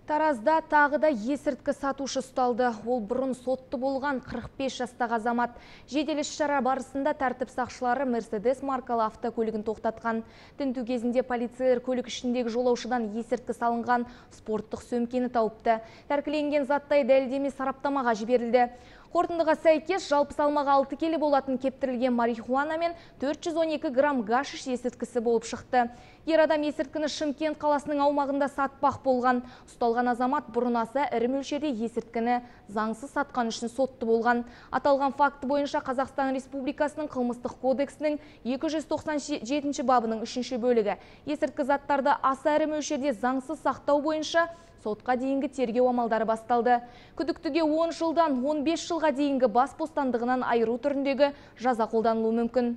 Таразда тағы да есірткі сатушы ұсталды. Ол бұрын сотты болған 45 жастағы азамат. Жедел іс-шара барысында тәртіп сақшылары Мерседес маркалы автокөлігін тоқтатқан. Тінту кезінде полицейлер көлік ішіндегі жолаушыдан есірткі салынған спорттық сөмкені тауыпты. Тәркіленген заттай дәлелдеме сараптамаға жіберілді. Қорытындыға сәйкес жалпы салмағы 6 келі болатын кептірілген марихуана мен 412 грамм гашиш есірткісі болып шықты. Ер адам есірткіні Шымкент қаласының аумағында сатпақ болған. Ұсталған азамат бұрын аса ірі мөлшерде есірткіні заңсыз сатқан үшін сотты болған. Аталған факті бойынша Қазақстан Республикасының қылмыстық кодексінің 297 бабының 3 бөлігі есірткі заттарды аса ірі мөлшерде заңсыз сақтау бойынша сотқа дейінгі тергеу амалдары басталды. Күдіктіге 10 жылдан 15 жылға дейінгі бас бостандығынан айыру түріндегі жаза қолданылуы мүмкін.